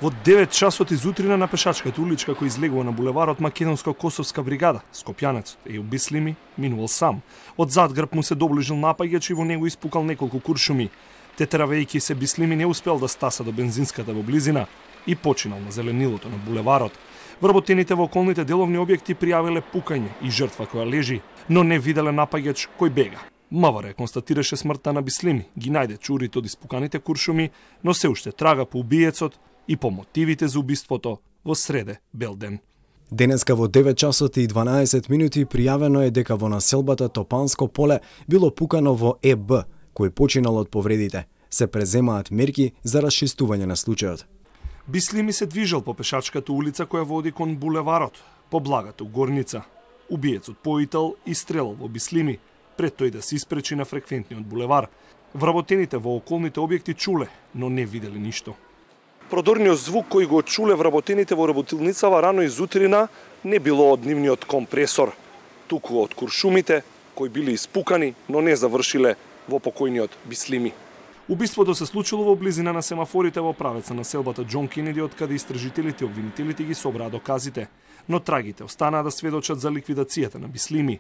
Во 9 часот изутрина на пешачката уличка која излегува на булеварот Македонско-Косовска бригада, скопјанецот Ејуп Бислими минувал сам. Од зад грб му се доближил напаѓач и во него испукал неколку куршуми. Тетеравејќи се, Бислими не успел да стаса до бензинската во близина и починал на зеленилото на булеварот. Вработените во околните деловни објекти пријавиле пукање и жртва која лежи, но не виделе напаѓач кој бега. МВР констатираше смртта на Бислими, ги најде чурите од испуканите куршуми, но се уште трага по убиецот и по мотивите за убиството во среде бел ден. Денеска во 9 часот и 12 минути пријавено е дека во населбата Топанско поле било пукано во ЕБ, кој починал од повредите. Се преземаат мерки за расчистување на случајот. Бислими се движел по пешачката улица која води кон булеварот, по благата горница. Убиецот поител и стрелал во Бислими, пред тој да се испречи на фреквентниот булевар. Вработените во околните објекти чуле, но не виделе ништо. Продорниот звук кој го чуле вработените во работилницава рано изутрина не било од нивниот компресор, туку од куршумите кои биле испукани, но не завршиле во покојниот Бислими. Убиството се случило во близина на семафорите во правеца на селбата Џон Кенеди, од каде истражителите и обвинителите ги собраа доказите, но трагите останаа да сведочат за ликвидацијата на Бислими.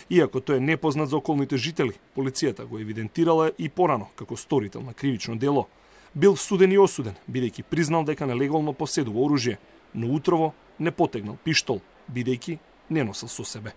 Иако тој е непознат за околните жители, полицијата го евидентирала и порано како сторител на кривично дело. Бил суден и осуден, бидејќи признал дека нелегално поседува оружје, но утрово не потегнал пиштол, бидејќи не носел со себе.